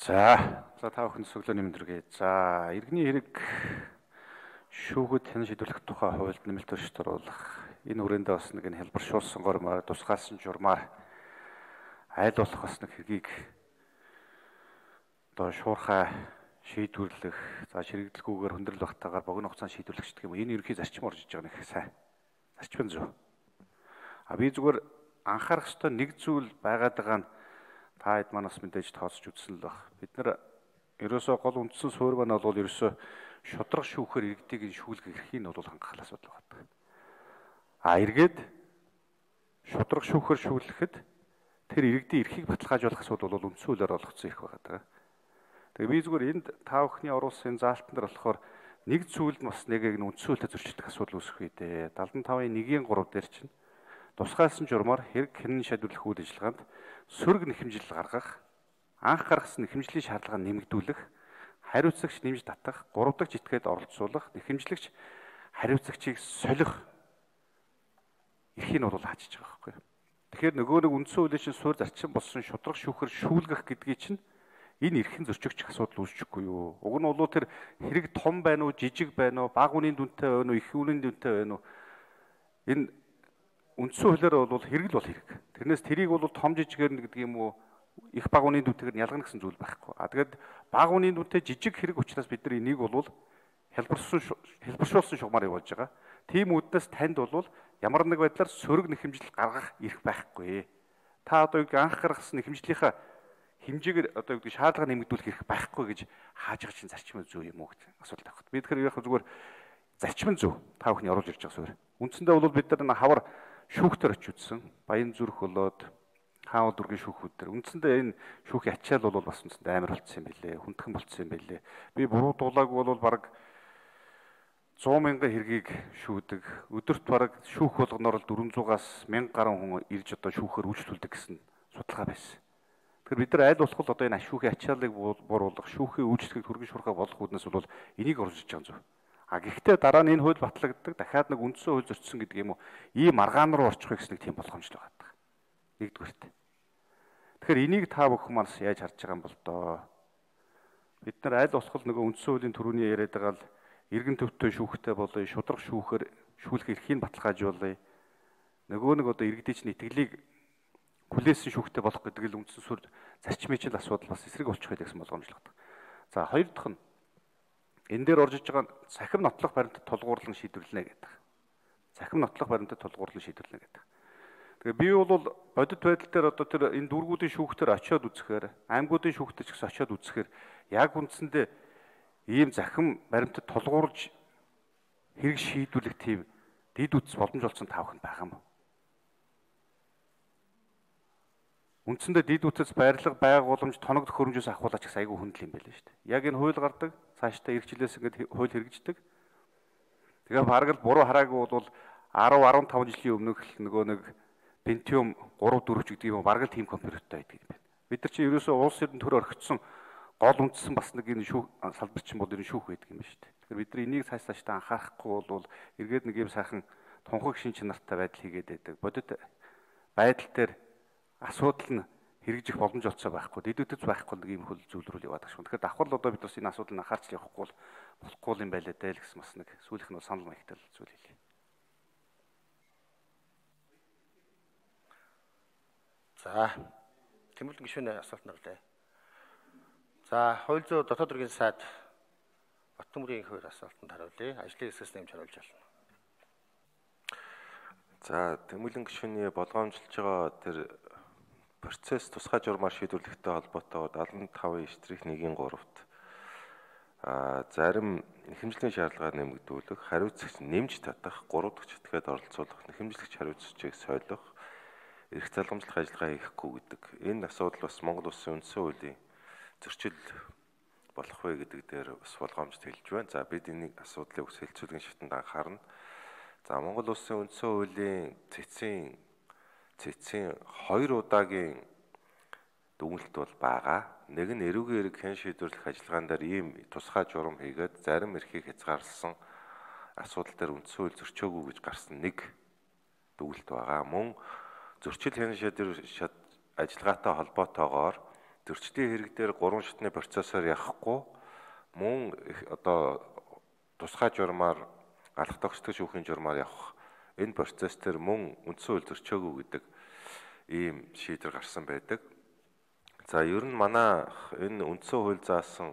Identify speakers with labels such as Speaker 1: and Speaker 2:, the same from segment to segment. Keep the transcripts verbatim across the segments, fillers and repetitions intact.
Speaker 1: За, за та бүхэн зөвлөө нэмэндэргээ. За, иргэний хэрэг шүүхэд хэн шийдвэрлэх тухай хуульд нэмэлт туршид оруулах. Энэ хүрээндээ бас нэг нь хэлбэршүүлсэн гормоор тусгаалсан журмаар айл болох бас нэг хэргийг одоо шуурхай шийдвэрлэх, за ширэгдэлгүйгээр хүндрэл багтаагаар богино хугацаанд шийдвэрлэх гэх юм. Энэ ерөнхий зарчим орж иж байгаа нэг сайн. Зарчим зөв. А би зүгээр анхаарах ёстой нэг зүйл байгаад байгаа нь та хэд манаас мэдээж тооцож үзсэн л баг. Бид нар ерөөсөө гол үндсэн суурь маань бол ерөөсөө шудраг шүүхээр иргэдийг шүүлгэх эрхийг нь бол хангах асуудал байна. А эргээд шудраг шүүхээр шүүлэхэд тэр иргэдийн эрхийг баталгаажуулах асуудал бол үндсэн хуулиар олгогдсон эрх байгаа. Тэгээ би зүгээр энд та бүхний оруулсан заалтан дээр болохоор нэг зүйлд бас нэг нь үндсэн хуулиар зөрчилдөх асуудал үүсэх үедээ дадлан тавын нэг гурав дээр чинь тусгаалсан журмаар хэрэг хэн шийдвэрлэх үйл ажиллагаанд сөрөг нэхэмжил гаргах, анх гаргасан нэхэмжлийн шаардлагыг нэмэгдүүлэх, хариуцагч нэмж татах, гурав дахь житгээд оролцуулах, нэхэмжлэгч хариуцагчийг солих эрхийг нь бол хаажиж байгаа байхгүй. Тэгэхээр нөгөө нэг үндсэн хуулийн чинь суурь зарчим болсон шудраг шүүхээр шүүлгэх гэдгийг чинь энэ эрхэн зөрчигдөх асуудал үүсчихгүй юу? Уг нь бол тэр хэрэг том байна уу, жижиг байна уу, бага үнийн дүнтэй байна уу, их үнийн дүнтэй байна уу? Энэ үндсэн хуулиар бол хэрэг л бол хэрэг. Тэрнээс тэрийг бол том жижигээр гэдэг юм уу, их бага үнийн дүнтэйгээр ялгана гэсэн зүйл байхгүй. А тэгээд бага үнийн дүнтэй жижиг хэрэг учраас бид нар энийг бол хэлбэршүүлсэн хэлбэршүүлсэн шугамаар явуулж байгаа. Тийм үднэс танд бол ямар нэг байдлаар сөрөг нэхэмжил гаргах эрх байхгүй. Та одоо юу анх гаргасан нэхэмжлийнхаа хэмжээгээр одоо юу шаардлага нэмэгдүүлэх эрх байхгүй гэж хааж байгаа чинь зарчим зөв юм уу гэдэг асуулт авах. Би тэгэхээр яг зүгээр зарчим зөв та бүхний оруулж ирж байгаа суурь. Үндсэндээ бол бид нар хавар шүүхтэр очиж үзсэн. Баян зүрх болоод хаан дургийн шүүхүүд төр. Үндсэндээ энэ шүүхийн ачаал бол бас үндсэндээ амар болцсон юм билээ. Хүндхэн болцсон юм билээ. Би буруу дуулааг бол баг сто мянган хэргийг шүүдэг. Өдөрт баг шүүх болгоноор л дөрвөнзуугаас мянга гаруй хүн ирж одоо шүүхээр үйлчлүүлдэг гэсэн судалгаа байсан. Тэгэхээр бид нар аль болох одоо энэ шүүхийн ачааллыг бууруулах, шүүхийн үйлчлэгийг түргэн шуурхай болох үүднээс бол энийг орж иж байгаа юм. А гэхдээ дараа нь энэ хууль батлагддаг, дахиад нэг үндсэн хууль зөрчсөн гэдэг юм уу, ийм аргаан руу орчихвол гэсэн нэг тийм болгоомжтой байдаг. Нэгдүгээрт. Тэгэхээр энийг та бүхэн манаас яаж харж байгаа юм бол доо. Бид нар аль болох нөгөө үндсэн хуулийн төрөний яриад байгаа л эргэн төвтэй шүүхтэй болоё, шудраг шүүхээр шүүлэх эрхийг баталгаажуулъя. Нөгөө нэг одоо иргэдийн чинь итгэлийг хүлээсэн шүүхтэй болох гэдэг л үндсэн суурь зарчмын чинь асуудал бас эсрэг болчих байдаг гэсэн болгоомжлогддог. За хоёр дахь нь энэ дээр орж иж байгаа цахим нотлох баримтад тулгуурлан шийдвэрлэнэ гэдэг. Цахим нотлох баримтад тулгуурлан шийдвэрлэнэ гэдэг. Тэгээ би бол бодит байдал дээр одоо тэр энэ дүүргүүдийн шүүхтэр очиод үзэхээр, аймагуудын шүүхтэр ч гэсэн очиод үзэхээр яг үндсэндээ ийм захим баримтад тулгуурлаж хэрэг шийдвэрлэх тийм дид үтс боломж олсон таавахнд байгаа юм. Үндсэндээ дид үтс байрлал байгууламж тоног төхөөрөмжөөс ахуулаач гэсэн айгүй хүндэл юм байл шүү дээ. Яг энэ хууль гардаг, цаашдаа ирэх жилээс ингээд хууль хэрэгждэг. Тэгээ бараг л буруу хараагүй бол десять десятан жилийн өмнөх нөгөө нэг Pentium три дөрөв ч гэдэг юм бараг л тийм компьютертэй байдаг юм байна. Бид нар чинь ерөөсөө улс орны төр орхигдсон гол үндсэн бас нэг энэ шүүх салбарчин бол энэ шүүх байдаг юм байна шүү дээ. Тэгэхээр бид нар энийг цааш цаашдаа анхаарахгүй бол эргээд нэг юм сайхан тунхаг шин чанартай байдал хийгээд байдаг. Бодит байдал дээр асуудал нь хэрэгжих боломж олцоо байхгүй. Дэдүүдэц байхгүй нэг юм хөл зүйл рүү яваад байгаа шүү. Тэгэхээр давхар л одоо бид бас энэ асуудал нь анхаарч явахгүй бол болохгүй юм байлаа даа л гэсэн бас нэг сүүлийнх нь санал маягтай зүйл хэлээ.
Speaker 2: За. Тэмүүлэн гишүүний асуулт нэрлээ. За, хууль зүйн дотоод хэргийн сайд Баттөмрийн хувийн асуултанд хариулъя. Ажлын хэсгээс нэмж хариулж байна.
Speaker 3: За, тэмүүлэн гишүүний болгоомжлж байгаа тэр процесс тусгай журмаар шийдвэрлэхтэй холбоотойгоор дадлан тавын эштрих нэг гуравт а зарим нэхэмжлийн шаардлагаар нэмэгдүүлэх, хариуцагч нэмж татах, гурав дахь чэтгээд оролцуулах, нэхэмжлэгч хариуцагчийг солих, эрх залгамжлах ажиллагаа хийхгүй гэдэг. Энэ асуудал бас Монгол Улсын үндсэн хуулийн зөрчил болох вэ гэдэг дээр бас болгоомжт хэлж байна. За бид энэ асуудлыг ус хэлцүүлгийн шатанд анхаарна. За Монгол Улсын үндсэн хуулийн цэцгийн цэцгийн хоёр удаагийн дүгнэлт бол байгаа. Нэг нь эрүүгийн эрэг хэн шийдвэрлэх ажиллагаан дээр ийм тусгай журам хийгээд зарим эрхийг хязгаарласан асуудал дээр үндсэн хууль зөрчөөгүй гэж гарсан нэг дүгнэлт байгаа. Мөн зөрчил хэн шийдвэрлэх ажиллагаатай холбоотойгоор зөрчлийн хэрэг дээр гурван шатны процессор явахгүй мөн одоо тусгай журмаар алах тогтцох шүүхийн журмаар явах энэ процесс төр мөн үндсэн хууль зөрчөөгүй гэдэг ийм шийдвэр гарсан байдаг. За ер нь манай энэ үндсэн хууль заасан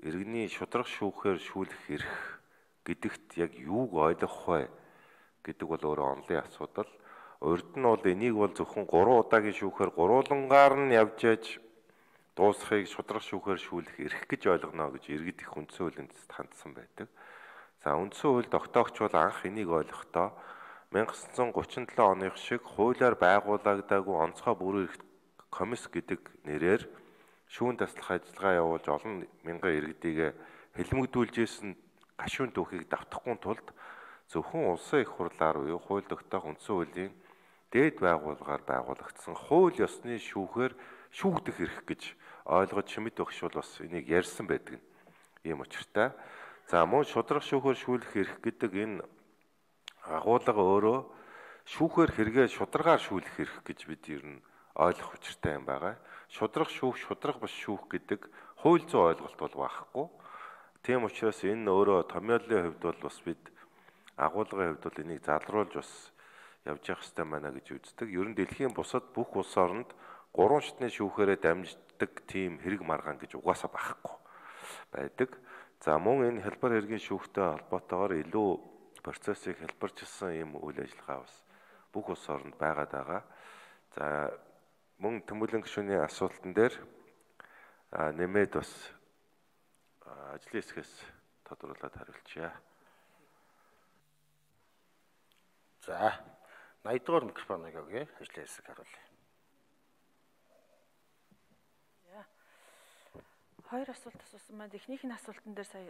Speaker 3: иргэний шударга шүүхээр шүүлэх эрх гэдэгт яг юуг ойлгох вэ гэдэг бол өөрөө онлын асуудал. Урд нь бол энийг бол зөвхөн гурван удаагийн шүүхээр гурвуулангаар нь явж яж дуусахыг шударга шүүхээр шүүлэх эрх гэж ойлгоно гэж иргэд их үндсэн хуулийн эцэст хандсан байдаг. За үндсэн хууль тогтоогч бол анх энийг ойлгохдоо 천구 гучин седем оных шиг хуулиар байгуулагдаагүй онцгой бүрэн эрх комисс гэдэг нэрээр шүүн таслах ажиллагаа явуулж олон мянган иргэдийг хэлмэгдүүлж исэн гашуун түүхийг давтахгүй тулд зөвхөн улсын их хурлаар буюу хууль тогтоох үндсэн хуулийн дээд байгууллагаар байгуулагдсан хууль ёсны шүүхээр шүүгдэх эрх гэж ойлгож Шимэд багш бол бас энийг ярьсан байдаг нь ийм учиртай. За мөн шударга шүүхээр шүүлэх эрх гэдэг энэ агуулга өөрөө шүүхээр хэрэгээ шударгаар шүүлэх эрх гэж бид ер нь ойлгох учиртай юм байгаа. Шударга шүүх, шударга бас шүүх гэдэг хууль зүйн ойлголт бол байхгүй. Тийм учраас энэ өөрөө томьёолын хувьд бол бас бид агуулгын хувьд бол энийг залруулж бас явж явах хэрэгтэй байна гэж үздэг. Ер нь дэлхийн бусад бүх улс оронд гурван шатны шүүхээрээ дамждаг тийм хэрэг маргаан гэж угаасаа байхгүй байдаг. За мөн энэ хялбар хэргийн шүүхтэй холбоотойгоор илүү процессыг хэлбэрчилсэн ийм үйл ажиллагаа бас бүх улс оронд байгаад байгаа. За мөн Тэмүүлэн гишүүний асуултан дээр нэмээд бас ажлын хэсгээс тодруулаад хариулчихъя.
Speaker 2: За найдвар дугаар микрофоныг өгье. Ажлын хэсэг харуулъя.
Speaker 4: Хоёр асуулт асуусан маань эхнийхний асуултан дээр сая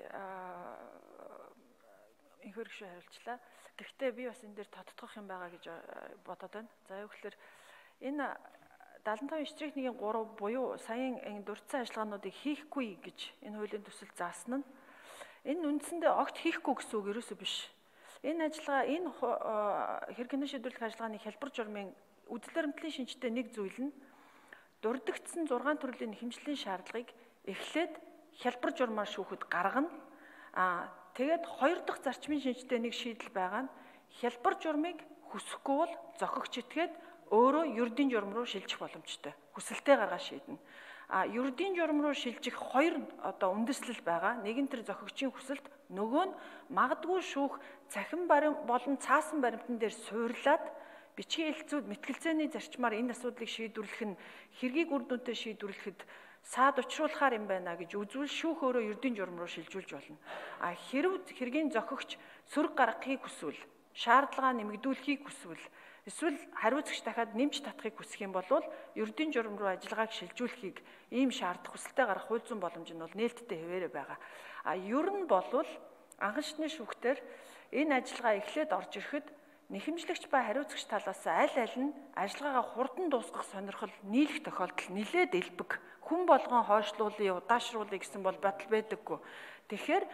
Speaker 4: инхэр гişүү хариулчлаа. Гэхдээ би бас энэ дээр тодтогох юм байгаа гэж бодоод байна. За яг гэхээр энэ дадлан тавын штрих нэгin три буюу саяын энэ дурдсан ажиллагаануудыг хийхгүй гэж энэ хуулийн төсөл заасан нь энэ үндсэндээ огт хийхгүй гэсэн үг ерөөсөө биш. Энэ ажиллагаа энэ хэрэгний шийдвэрлэх ажиллагааны хялбар журмын үйл баримтлалын шинжтэй нэг зүйл нь дурддагдсан зургаан төрлийн хэмжлэлийн шаардлагыг эхлээд хялбар журмаар шүүхэд гаргана. Аа тэгээд хоёр дахь зарчмын шинжтэй нэг шийдэл байгаа нь хялбар журмыг хүсэхгүй бол зохигч этгээд өөрөө ердийн журм руу шилжих боломжтой. Хүсэлтээ гаргаж шийднэ. А ердийн журм руу шилжих хоёр одоо үндэслэл байгаа. Нэг нь тэр зохигчийн хүсэлт, нөгөө нь магадгүй шүүх цахим барим болон цаасан баримтан дээр суурлаад бичгийн хэлцүүд мэтгэлцээний зарчмаар энэ асуудлыг шийдвэрлэх нь хэргийг үр дүнтэй шийдвэрлэхэд саад учруулахаар юм байна гэж үзвэл шүүх өөрөө ердийн журм руу шилжүүлж болно. А хэрв хэргийн зохигч сөрөг гаргахыг хүсвэл, шаардлага нэмэгдүүлэхийг хүсвэл, эсвэл хариуцагч дахиад нэмж татахыг хүсэх юм бол ердийн журм руу ажиллагааг шилжүүлэхийг ийм шаардах хүсэлтэд гарах хууль зүйн боломж нь бол нээлттэй хэвээрээ байгаа. А ер нь болвол анхан шатны шүүхтэр энэ ажиллагаа эхлээд орж ирэхэд нэхэмжлэгч ба хариуцагч талаас аль аль нь ажиллагаагаа хурдан дуусгах сонирхол нийлэх тохиолдол нэлээд элбэг. Хүн болгон хойшлуулъя, удаашруулъя гэсэн бол батал байдаггүй. Тэгэхээр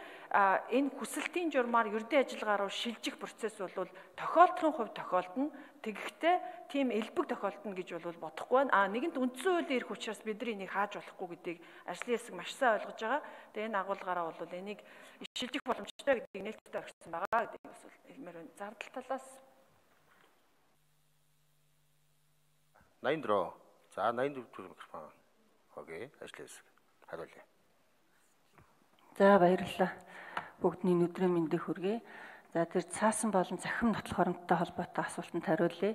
Speaker 4: энэ хүсэлтийн журмаар ердийн ажиллагаа руу шилжих процесс бол тохиолдлын хувьд тохиолдно. Тэгэхдээ тийм элбэг тохиолдно гэж бол бодохгүй байна. А нэгэнт үндсэн хуулийн эрх учраас бид нар энийг хааж болохгүй гэдгийг ажлын хэсэг маш сайн ойлгож байгаа. Тэгээ энэ агуулгаараа бол энийг шилжих боломжтой гэдгийг нээлттэй орхисон байгаа гэдэг нь бас хэлмээр байна. Зардал талаас
Speaker 2: найман дөрөв. За найман дөрөв микрофон. Окей, ажлын хэсэг. Хариулъя.
Speaker 5: За баярлалаа. Бүгдний өдрийн мэндийг хүргэе. За тэр цаасан болон захим нотлох хоромттой холбоотой асуултанд хариулъя.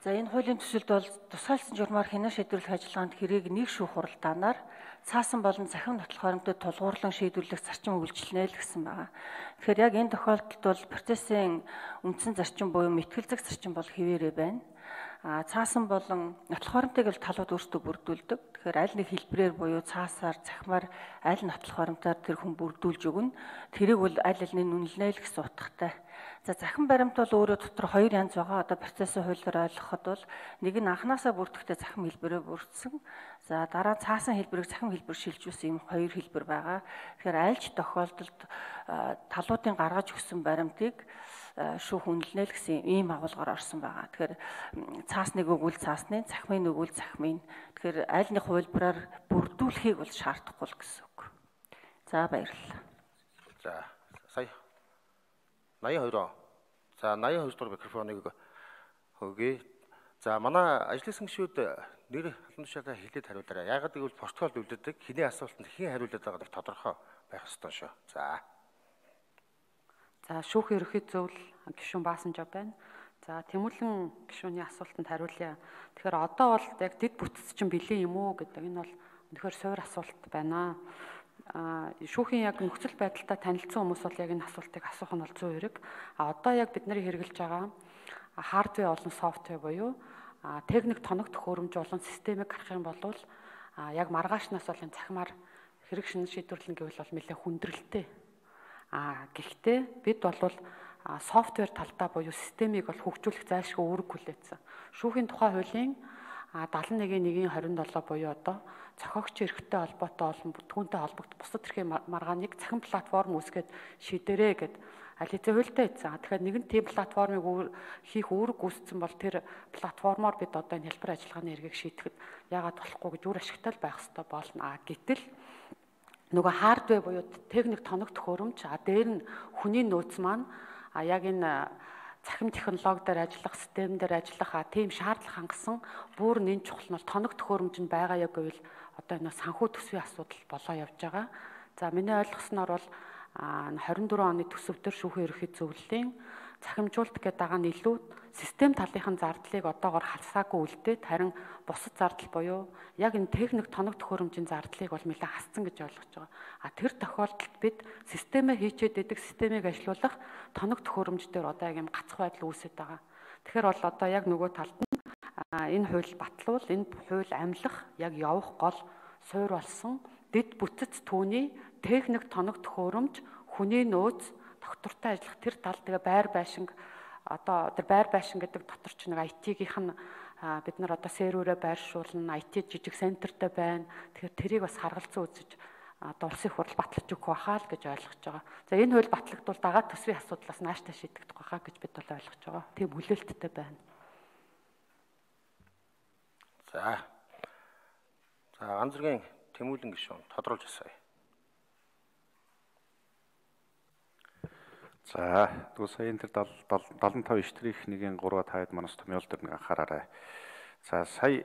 Speaker 5: За энэ хуулийн төсөлд бол тусгайлсан журмаар хянаа шийдвэрлэх ажиллагаанд хэрээг нэг шүүх хуралдаанаар цаасан болон захим нотлох хоромтой тулгуурлан шийдвэрлэх зарчим үйлчилнэ л гэсэн байгаа. Тэгэхээр яг энэ тохиолдолд бол процессын үндсэн зарчим буюу мэтгэлзэх зарчим бол хэвээрээ байна. А цаасан болон нотлох хоромтойг бол талууд өөрсдөө бүрдүүлдэг. Тэгэхээр аль нэг хэлбэрээр буюу цаасаар, цахимаар аль нотлох хоромтоор тэр хүн бүрдүүлж өгнө. Тэрийг бол аль аль нь үнэлнэ л гэсэн утгатай. За захин баримт бол өөрөө дотор хоёр янз байгаа. Одоо процессын хуулиар ойлгоход бол нэг нь анханасаа бүрдэхдээ захин хэлбэрээр бүрдсэн. За дараа цаасан хэлбэрийг захин хэлбэр шилжүүлсэн юм хоёр хэлбэр байгаа. Тэгэхээр аль ч тохиолдолд талуудын гаргаж өгсөн баримтыг шүүх үнэлнэ л гэсэн ийм агуулгаар орсон байгаа. Тэгэхээр цаасныг өгвөл цаасны, цахимыг өгвөл цахимын. Тэгэхээр аль нэг хувилбараар бүрдүүлэхийг бол шаардахгүй л гэсэн үг. За баярлалаа.
Speaker 2: За сая наяа хоёр. За наяа хоёр дахь микрофоныг өгье. За манай ажлын гишүүд нэр алан тушаалаа хэлээд хариулаарай. Яагаад гэвэл протокол үлддэг хэний асуултанд хэн хариулаад байгааг тодорхой байх ёстой шүү. За.
Speaker 6: За шүүхийн ерөнхий зөвлөл гишүүн Баасанжаа байна. За Тэмүүлэн гишүүний асуултанд хариулъя. Тэгэхээр одоо бол яг дэд бүтц чинь бэлэн юм уу гэдэг энэ бол үнэхээр суур асуулт байна. А шүүхийн яг нөхцөл байдалтай танилцсан хүмүүс бол яг энэ асуултыг асуух нь бол зүйн хэрэг. А одоо яг бид нарыг хэрэгжилж байгаа хардвер болон софтвер буюу техник тоног төхөөрөмж болон системийг гаргах юм бол яг маргаашнаас бол энэ цахимаар хэрэг шинэ шийдвэрлэн гэвэл бол нэлээд хүндрэлтэй. А гэхдээ бид бол софтвер талдаа буюу системийг бол хөгжүүлэх зайлшгүй үүрэг хүлээсэн. Шүүхийн тухай хуулийн дагалан нэгэн нэгэн хорин долоо буюу одоо зохиогч эрхтэй холбоотой олон бүтээгдэхүүнтэй холбогдох бусад эрхийн маргааныг цахим платформ үүсгээд шийдэрээ гэд аль хэзээ хуультай ийдсэн. Тэгэхээр нэгэн тийм платформыг хийх үүрэг гүйцэтгэсэн бол тэр платформоор бид одоо энэ хэлбэр ажиллагааны эргийг шийдэхэд яагаад болохгүй гэж үр ашигтай байх хэрэгтэй болно. А гэтэл нөгөө хардвер буюу техник тоног төхөөрөмж а дээр нь хүний нөөц маань а яг энэ цахим технологи дээр ажиллах, систем дээр ажиллах а тийм шаардлага хангасан бүр нэн чухал нь бол тоног төхөөрөмж нь байгаа яг гэвэл одоо энэ санхүү төсвийн асуудал болоо явж байгаа. За миний ойлгосноор бол хорин дөрвөн оны төсөвдөр шүүхийн ерөнхий зөвлөлийн цахимжуулалт гэдэг дагаа нь илүү систем талынхын зардлыг одоогоор хасаагүй үлдээд харин бусад зардал буюу яг энэ техник тоног төхөөрөмжийн зардлыг бол нэлээд хасцсан гэж ойлгож байгаа. А тэр тохиолдолд бид системээ хийчээд идэг системийг ажилуулах тоног төхөөрөмж дээр одоо яг юм гацх байдал үүсэж байгаа. Тэгэхээр бол одоо яг нөгөө талд нь энэ хууль батлуул, энэ хууль амлах яг явах гол суур болсон дэд бүтц түүний техник тоног төхөөрөмж хүний нөөц доктортой ажиллах тэр тал тэгээ байр байшинг одоо тэр байр байшин гэдэг дотор ч нэг ай ти-гийнх нь бид нар одоо серверээ байршуулна, ай ти жижиг центртэй байна. Тэгэхээр тэрийг бас харгалзан үзэж одоо улсын хурал батлаж өгөх байхаа л гэж ойлгож байгаа. За энэ хууль батлагдвал дагаад төсвийн асуудлаас нааштай шийдэгдэх байхаа гэж бид бол ойлгож байгаа. Тийм хүлээлттэй байна.
Speaker 2: За. За ганц зэргийн Тэмүүлэн гишүүн тодруулж асууя.
Speaker 1: За тэгвэл сая энэ тэр дагалан таван штрих нэгэн гурав таад манаас томьёол дээр нэг анхаараарай. За сая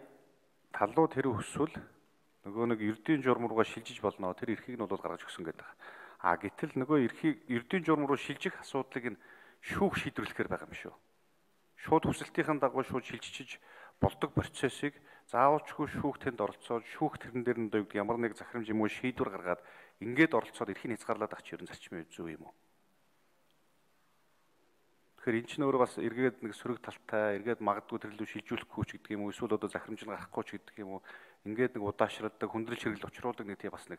Speaker 1: талууд тэр өсвөл нөгөө нэг эрдийн журам руугаа шилжиж болно. Тэр эрхийг нь бол гаргаж өгсөн гэдэг. А гэтэл нөгөө эрхийг эрдийн журам руу шилжих асуудлыг нь шүүх шийдвэрлэхээр байгаа юм шүү. Шууд хүсэлтийн дагуу шууд шилжиж болдог процессыг заавалчгүй шүүх тэнд оролцоод шүүх тэрэн дээр нь дойгд ямар нэг захирамж юм уу шийдвэр гаргаад ингээд оролцоод эрхийг хязгаарлаад ах чинь зарчмын зөв юм уу? Тэгэхээр эн чинь өөрөө бас эргээд нэг сөрөг талтай, эргээд магадгүй тэрлүү шилжүүлэхгүй ч гэдэг юм уу, эсвэл одоо захирамж нь гарахгүй ч гэдэг юм уу, ингээд нэг удаашралдаг, хүндрэл хэрэгэл учруулдаг нэг тийм бас нэг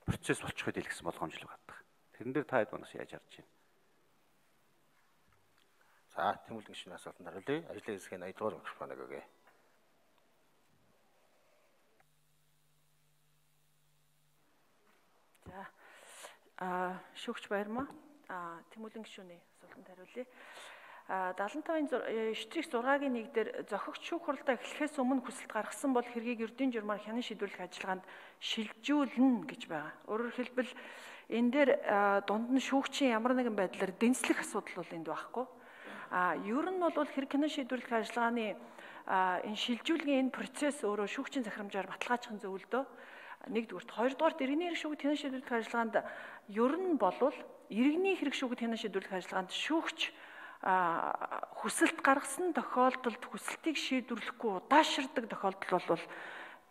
Speaker 1: процесс болчих үед илгэсэн болгоомжл байдаг. Тэрэн дээр та хэд манаас яаж харж байна?
Speaker 2: За, Тэмүүлэн гишүүний асуултанд хариулъя. Ажлын хэсгийн аяд дугаар микрофоныг өгье.
Speaker 4: За. Аа, шүүгч Баярмаа. Аа, Тэмүүлэн гишүүний асуултанд хариулъя. А дагалан таван штрих зургагийн нэг дээр зохигч шүүх хуралдаа эхлэхээс өмнө хүсэлт гаргасан бол хэргийг эрдийн журмаар хянан шийдвэрлэх ажиллагаанд шилжүүлнэ гэж байгаа. Өөрөөр хэлбэл энэ дээр дунд нь шүүгчийн ямар нэгэн байдлаар дэнслэх асуудал бол энд байхгүй. А ер нь бол хэрэг хянан шийдвэрлэх ажиллагааны энэ шилжүүлгийн энэ процесс өөрөө шүүгчийн захирамжаар баталгаажихын зөвлөдөө нэгдүгürt, хоёрдугаарт иргэний хэрэг шүүгт хянан шийдвэрлэх ажиллагаанд ер нь болвол иргэний хэрэг шүүгт хянан шийдвэрлэх ажиллагаанд шүүгч хүсэлт гаргасан тохиолдолд хүсэлтийг шийдвэрлэхгүй удаашрдаг тохиолдол бол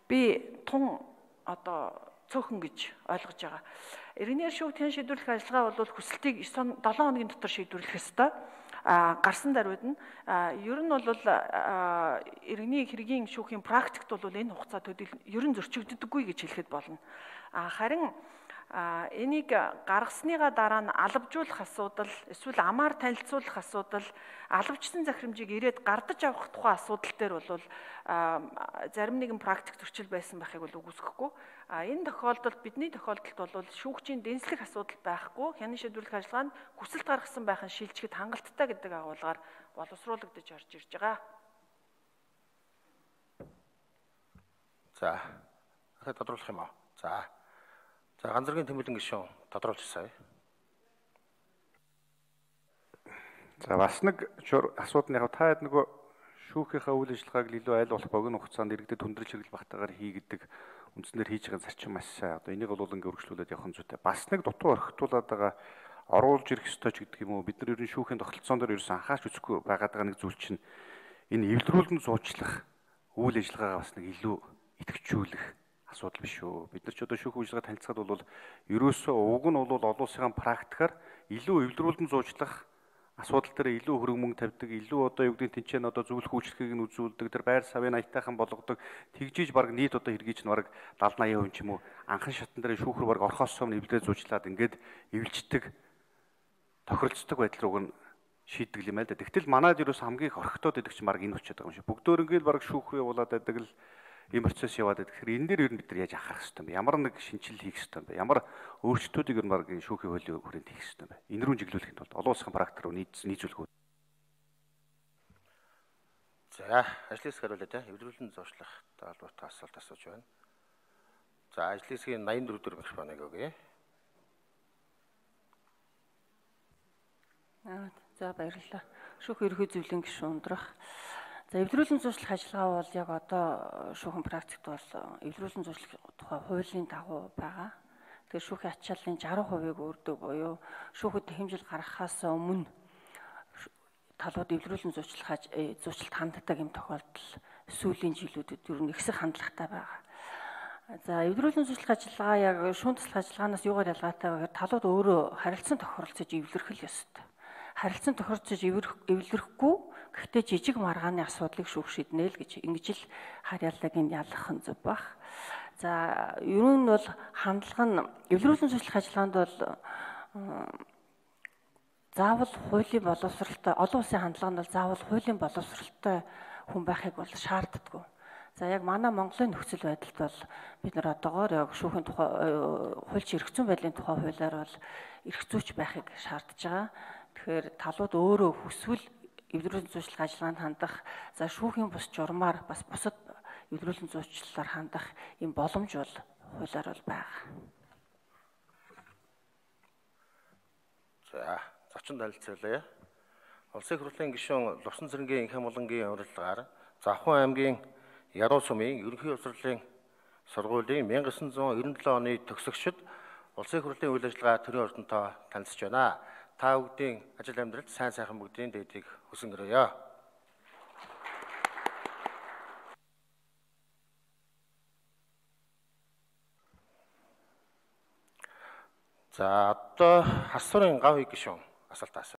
Speaker 4: би тун одоо цөөхөн гэж ойлгож байгаа. Иргэний шүүгт хянан шийдвэрлэх ажиллагаа бол хүсэлтийг семь хоногийн дотор шийдвэрлэх ёстой. А гарсан даруйд нь ер нь бол иргэний хэргийн шүүхийн практикт бол энэ хугацаа төдийл ер нь зөрчигддөггүй гэж хэлэхэд болно. А харин А энийг гаргасныга дараа нь алавжуулах асуудал, эсвэл амаар танилцуулах асуудал, алавчсан захирамжийг ирээд гардаж авах тухай асуудал дээр бол зарим нэгэн практик зөрчил байсан байхыг бол үгүйсэхгүй. А энэ тохиолдолд бидний тохиолдолд бол шүүгчийн дэнслэх асуудал байхгүй, хянан шийдвэрлэх ажиллагаа нь хүсэлт гаргасан байхын шилжихэд хангалттай гэдэг агуулгаар боловсруулагдаж орж ирж байгаа.
Speaker 2: За, дахиад тодруулах юм аа. За. За, ганцэргийн тэмүүлэн гишүүн тодруулчихсаа.
Speaker 1: За бас нэг асуудал нь яг та хэд нөгөө шүүхийнхаа үйл ажиллагааг илүү айл болох богино хугацаанд иргэдэд хүндрэл чиглэл багтаагаар хийгдэг үндснээр хийж байгаа зарчим маш сайн. Одоо энийг бол ингээ өргөжлүүлээд явах нь зүйтэй. Бас нэг дутуу орхитуулаад байгаа оруулж ирэх ёстой ч гэдэг юм уу. Бид нар ер нь шүүхийн тогтолцоон дээр ерөөсөн анхаарч үзэхгүй байгаад байгаа нэг зүйл чинь энэ эвлэрүүлэн зуучлах үйл ажиллагаагаа бас нэг илүү идэвхжүүлэх асуудал биш үү. Бид нар ч одоо шүүх үйлчилгээ танилцахад бол ерөөсөө уг нь бол олон улсын практикаар илүү эвлэрүүлэн зуучлах асуудал дээр илүү хөрөнгө мөнгө тавьдаг, илүү одоо юу гэдэг тэнцэн одоо зөвлөх үйлчлэгийг нь үзүүлдэг, тэр байр савын аятайхан болгодог, тэгжиж баг нийт одоо хэргийг ч нэг дадлан аяа хүн ч юм уу анхан шатан дээр шүүхрүү баг орхосоо нэвлээ зуучлаад ингээд эвлждэг тохиролцдог байдал руу нь шийддэг юм байл да. Тэгтэл манайд ерөөс хамгийн их орхитоод идэх чинь баг энэ болчиход байгаа юм шиг. Бүгдөөрөнгөө баг шүүх явуулаад байдаг л ийм процесс яваад байдаг. Тэгэхээр энэ дээр ер нь бид нар яаж анхаарах хэрэгтэй юм бэ? Ямар нэг шинжилэл хийх хэрэгтэй юм бэ? Ямар өөрчлөлтүүдийг ер нь баг шүүхийн хуулийн хүрээнд хийх хэрэгтэй юм бэ? Энэ рүү чиглүүлэхэд бол олон улсын практик руу нийцүүлэх үү?
Speaker 2: За, ажлын хэсэг хариулъя те. Эвлэрүүлэн зуучлах талбарт асуулт асууж байна. За, ажлын хэсгийн найман дөрөв дөрөв микрофоныг өгье.
Speaker 5: Аа, за баярлалаа. Шүүх ерхий зөвлөлийн гишүүн ундрах. За, эвлэрүүлэн зуучлах ажиллагаа бол яг одоо шүүхэн практикт бол эвлэрүүлэн зуучлах тухай хуулийн дагуу байгаа. Тэгэхээр шүүхийн ачааллын жаргал хувийг өөрдөг буюу шүүхэд хэмжил гаргахаас өмнө талууд эвлэрүүлэн зуучлах зуучлалт ханддаг юм тохиолдол сүүлийн жилүүдэд ер нь ихсэх хандлагатай байгаа. За, эвлэрүүлэн зуучлах ажиллагаа яг шүүн туслах ажиллагаанаас юугаар ялгаатай вэ гэхээр талууд өөрөө харилцан тохиролцож эвлэрэх л ёстой. Харилцан тохиролцож эвлэрэхгүй гэхдээ жижиг маргааны асуудлыг шүүх шийднэ л гэж ингэж л харьяаллыг нь ялгах нь зөв баг. За, ер нь бол хандлага нь эвлэрүүлэн зуучлах ажиллагаанд бол заавал хуулийн боловсралтай олон улсын хандлага нь бол заавал хуулийн боловсралтай хүн байхыг бол шаарддаггүй. За, яг манай Монголын нөхцөл байдалд бол бид нар одоогоор яг шүүхийн тухай хуульч эрх зүйн байдлын тухай хуулиар бол эрх зүйч байхыг шаардж байгаа. Тэгэхээр талууд өөрөө хүсвэл эвлэрүүлэн зуучлах ажиллагаанд хандах, за шүүхийн бус журмаар бас бусад эвлэрүүлэн зуучлалаар хандах юм боломж бол хуулиар бол байгаа.
Speaker 2: За, зочин танилцуулъя. Улсын их хурлын гишүүн Лувсан цэрэнгийн Инх амгалангийн урилгаар Завхан аймгийн Яруу сумын ерөнхий боловсролын сургуулийн 천구 девятьсот девяносто оны төгсөгчд улсын их хурлын үйл ажиллагаа төрийн ордонтой танилцж байна. Та бүгдийн ажил амьдралд сайн сайхан бүгдийн дээдийг хүсэн өрөөё. За, одоо хас сурын гав гишүүн асуулт асууя.